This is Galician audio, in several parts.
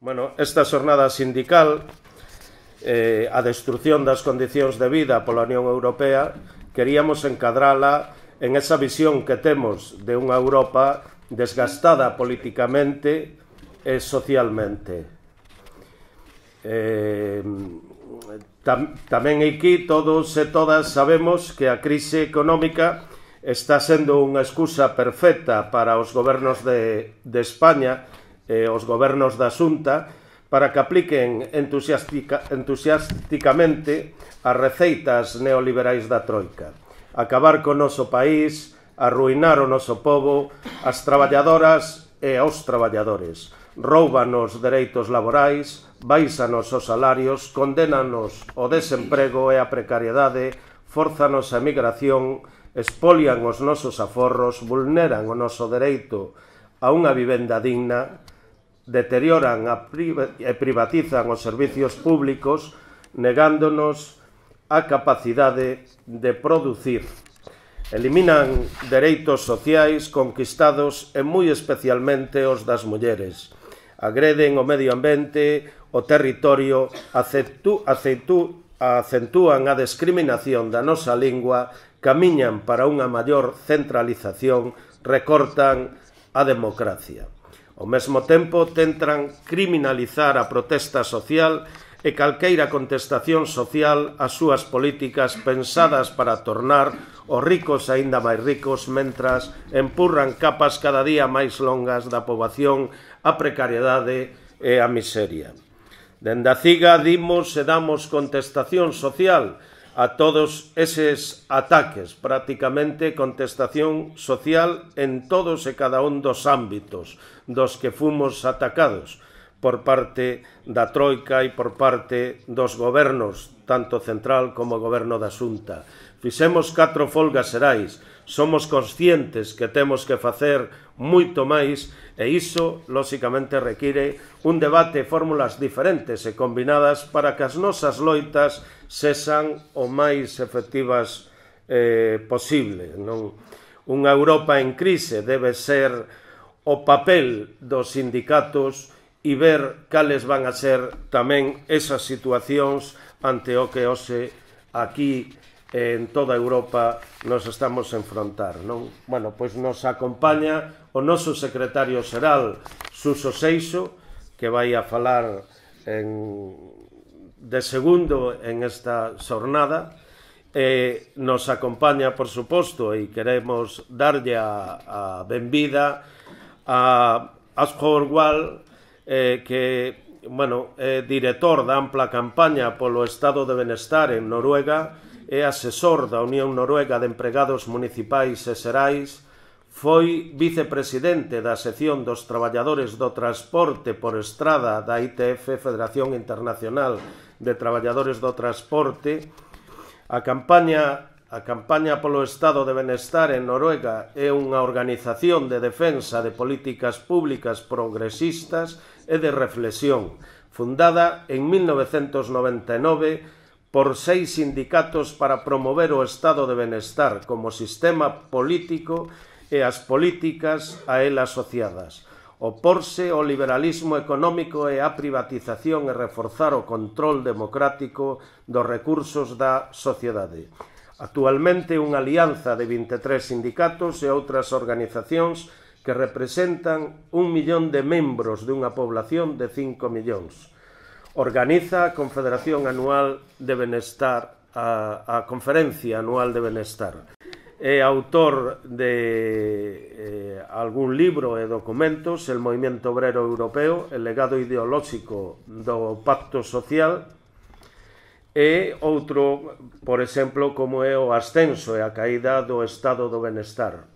Bueno, esta xornada sindical, a destrucción das condicións de vida pola Unión Europea, queríamos encadrala en esa visión que temos de unha Europa desgastada políticamente e socialmente. Tamén aquí todos e todas sabemos que a crise económica está sendo unha excusa perfecta para os gobernos de España e os gobernos da Xunta para que apliquen entusiasticamente as receitas neoliberais da Troika. Acabar co noso país, arruinar o noso pobo, as traballadoras e aos traballadores. Róubanos dereitos laborais, baixanos os salarios, condénanos o desemprego e a precariedade, fórzanos a emigración, expolian os nosos aforros, vulneran o noso dereito a unha vivenda digna, deterioran e privatizan os servicios públicos, negándonos a capacidade de producir. Eliminan dereitos sociais conquistados e moi especialmente os das mulleres. Agreden o medio ambiente, o territorio, acentúan a discriminación da nosa lingua, camiñan para unha maior centralización, recortan a democracia. Ao mesmo tempo, tentan criminalizar a protesta social e calqueira contestación social ás súas políticas pensadas para tornar os ricos aínda máis ricos mentras empurran capas cada día máis longas da poboación á precariedade e á miseria. Dende a CIGA dimos e damos contestación social a todos eses ataques, prácticamente contestación social en todos e cada un dos ámbitos dos que fomos atacados por parte da Troika e por parte dos gobernos, tanto central como o goberno da Xunta. Fixemos 4 folgas xerais, somos conscientes que temos que facer moito máis e iso, lóxicamente, require un debate e fórmulas diferentes e combinadas para que as nosas loitas sexan o máis efectivas posible. Unha Europa en crise debe ser o papel dos sindicatos e ver cales van a ser tamén esas situacións ante o que hoxe aquí en toda Europa nos estamos a enfrontar. Bueno, pois nos acompaña o noso secretario xeral, Suso Seixo, que vai a falar de segundo en esta xornada. Nos acompaña, por suposto, e queremos darlle a benvida a Asghur Wal, que é director da ampla campaña polo Estado de Benestar en Noruega, é asesor da Unión Noruega de Empregados Municipais e Xerais, foi vicepresidente da sección dos traballadores do transporte por estrada da ITF, Federación Internacional de Traballadores do Transporte. A campaña polo Estado de Benestar en Noruega é unha organización de defensa de políticas públicas progresistas e de reflexión, fundada en 1999 por 6 sindicatos para promover o Estado de Benestar como sistema político e as políticas a él asociadas, oporse ao liberalismo económico e á privatización e reforzar o control democrático dos recursos da sociedade. Actualmente unha alianza de 23 sindicatos e outras organizacións que representan 1 millón de membros de unha población de 5 millóns. Organiza a Confederación Anual de Benestar, a Conferencia Anual de Benestar. É autor de algún libro e documentos, El Movimiento Obrero Europeo, el legado ideolóxico do Pacto Social, e outro, por exemplo, como é o ascenso e a caída do Estado do Benestar.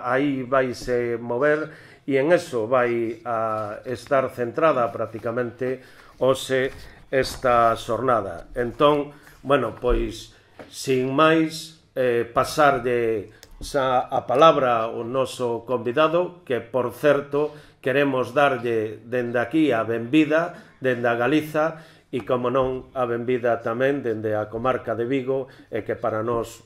Aí vaise mover e en eso vai a estar centrada prácticamente hoxe esta xornada. Entón, bueno, pois, sin máis, pasarlle a palabra ao noso convidado, que, por certo, queremos darlle dende aquí a benvida, dende a Galiza, e, como non, a benvida tamén dende a comarca de Vigo, e que para nós,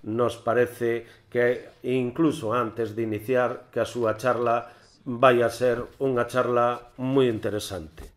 nos parece que, incluso antes de iniciar, que a súa charla vai a ser unha charla moi interesante.